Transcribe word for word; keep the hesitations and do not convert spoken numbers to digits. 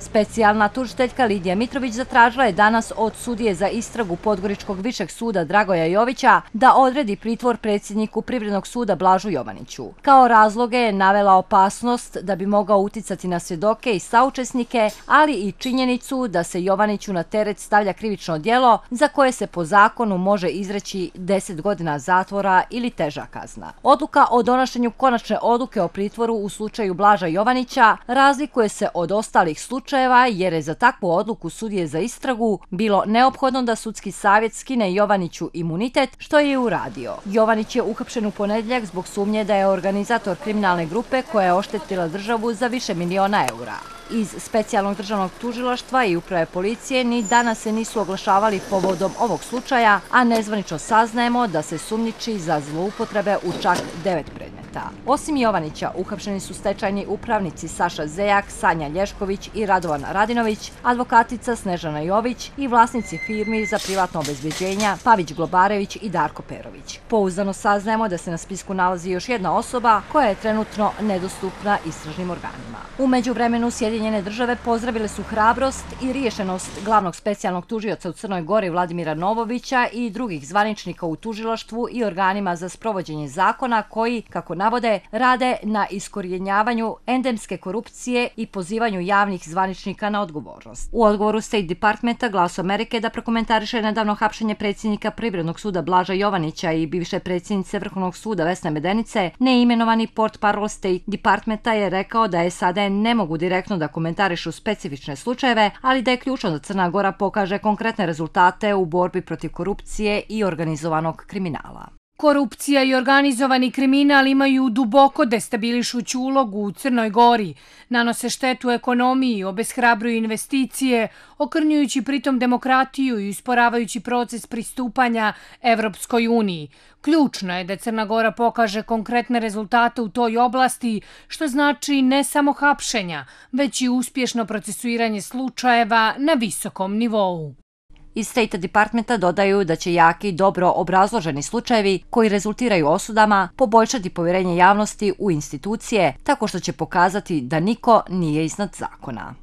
Specijalna tužiteljka Lidija Mitrović zatražila je danas od sudije za istragu Podgoričkog višeg suda Dragoja Jovića da odredi pritvor predsjedniku Privrednog suda Blažu Jovaniću. Kao razloge je navela opasnost da bi mogao uticati na svjedoke i saučesnike, ali i činjenicu da se Jovaniću na teret stavlja krivično djelo za koje se po zakonu može izreći deset godina zatvora ili teža kazna. Odluka o donošenju konačne odluke o pritvoru u slučaju Blaža Jovanića razlikuje se od ostalih slučajeva jer je za takvu odluku sudije za istragu bilo neophodno da sudski savjet skine Jovaniću imunitet, što je i uradio. Jovanić je uhapšen u ponedjeljak zbog sumnje da je organizator kriminalne grupe koja je oštetila državu za više miliona eura. Iz Specijalnog državnog tužilaštva i uprave policije ni danas se nisu oglašavali povodom ovog slučaja, a nezvanično saznajemo da se sumnjiči za zloupotrebe u čak devet predmeta. Osim Jovanića, uhapšeni su stečajni upravnici Saša Zejak, Sanja Lješković i Radovan Radinović, advokatica Snežana Jović i vlasnici firmi za privatno obezbeđenja Pavić Globarević i Darko Perović. Pouzdano saznajemo da se na spisku nalazi još jedna osoba koja je trenutno nedostupna istražnim organima. U međuvremenu Sjedinjene države pozdravile su hrabrost i riješenost glavnog specijalnog tužioca u Crnoj Gori Vladimira Novovića i drugih zvaničnika u tužilaštvu i organima za sprovođenje zakona koji, kako navode, rade na iskorjenjavanju endemske korupcije i pozivanju javnih zvaničnika na odgovornost. U odgovoru State Departmenta Glas Amerike da prokomentariše nedavno hapšenje predsjednika Privrednog suda Blaža Jovanića i bivše predsjednice Vrhovnog suda Vesne Medenice, neimenovani portparol State Departmenta je rekao da S A D ne mogu direktno da komentarišu specifične slučajeve, ali da je ključno da Crna Gora pokaže konkretne rezultate u borbi protiv korupcije i organizovanog kriminala. Korupcija i organizovani kriminal imaju duboko destabilišuću ulogu u Crnoj Gori, nanose štetu ekonomiji, obeshrabruju investicije, okrnjujući pritom demokratiju i usporavajući proces pristupanja Evropskoj uniji. Ključno je da Crna Gora pokaže konkretne rezultate u toj oblasti, što znači ne samo hapšenja, već i uspješno procesuiranje slučajeva na visokom nivou. Iz State Departmenta dodaju da će jaki, dobro obrazloženi slučajevi koji rezultiraju osudama poboljšati povjerenje javnosti u institucije tako što će pokazati da niko nije iznad zakona.